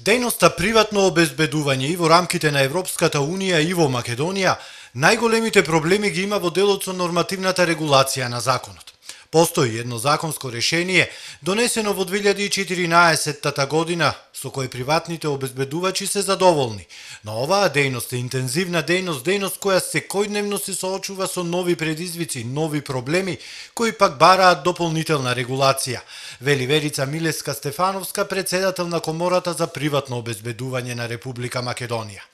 Дејноста приватно обезбедување и во рамките на Европската Унија и во Македонија, најголемите проблеми ги има во делот со нормативната регулација на законот. Постои едно законско решение, донесено во 2014 година, со кое приватните обезбедувачи се задоволни. Но оваа дејност е интензивна дејност која секојдневно се соочува со нови предизвици, нови проблеми, кои пак бараат дополнителна регулација, вели Верица Милевска-Стефановска, председател на Комората за приватно обезбедување на Република Македонија.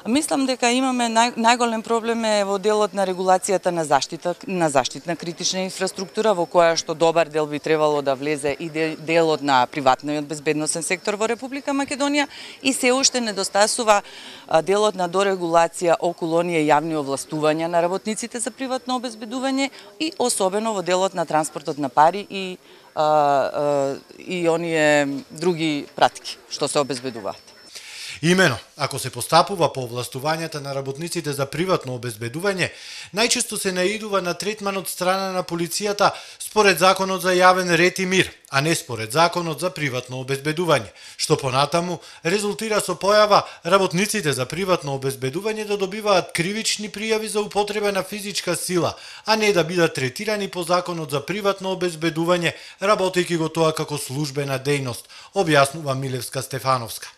Мислам дека имаме најголем проблем е во делот на регулацијата на заштитна критична инфраструктура, во која што добар дел би требало да влезе и делот на приватниот безбедносен сектор во Република Македонија, и се уште недостасува делот на дорегулација околу оние јавни овластувања на работниците за приватно обезбедување и особено во делот на транспортот на пари и оние други пратки што се обезбедуваат. Имено, ако се постапува по овластувањата на работниците за приватно обезбедување, најчесто се наидува на третман од страна на полицијата според Законот за јавен ред и мир, а не според Законот за приватно обезбедување, што понатаму резултира со појава работниците за приватно обезбедување да добиваат кривични пријави за употреба на физичка сила, а не да бидат третирани по Законот за приватно обезбедување, работејќи го тоа како службена дејност, објаснува Милевска-Стефановска.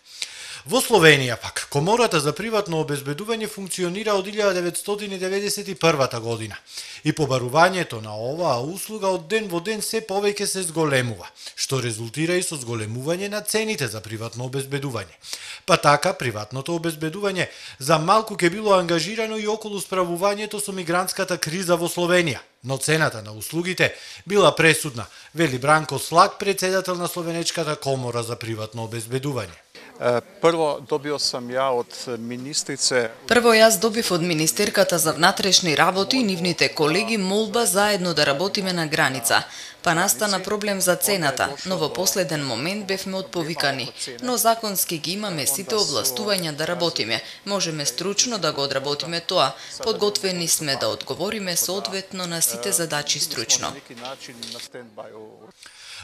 Во Словенија пак, Комората за приватно обезбедување функционира од 1991 година и побарувањето на оваа услуга од ден во ден се повеќе се зголемува, што резултира и со зголемување на цените за приватно обезбедување. Па така, приватното обезбедување за малку ќе било ангажирано и околу справувањето со мигрантската криза во Словенија, но цената на услугите била пресудна, вели Бранко Слак, председател на Словенечката комора за приватно обезбедување. Прво јас добив од министерката за внатрешни работи и нивните колеги молба заедно да работиме на граница. Па настана проблем за цената, но во последен момент бевме отповикани. Но законски ги имаме сите овластувања да работиме. Можеме стручно да го одработиме тоа. Подготвени сме да одговориме соодветно на сите задачи стручно.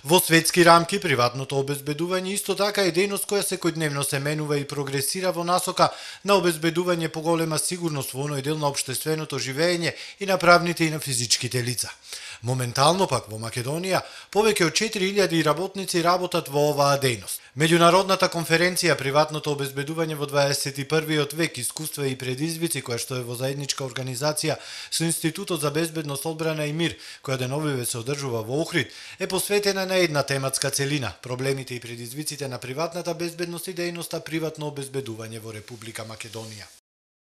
Во светски рамки, приватното обезбедување исто така е дејност која секојдневно се менува и прогресира во насока на обезбедување поголема сигурност во оној дел на општественото живење и на правните и на физичките лица. Моментално пак во Македонија повеќе од 4000 работници работат во оваа дејност. Меѓународната конференција Приватното обезбедување во 21. век, искуства и предизвици, која што е во заедничка организација со Институтот за безбедност, одбрана и мир, која деновиве се одржува во Охрид, е посветена на една тематска целина – проблемите и предизвиците на приватната безбедност и дејноста приватно обезбедување во Република Македонија.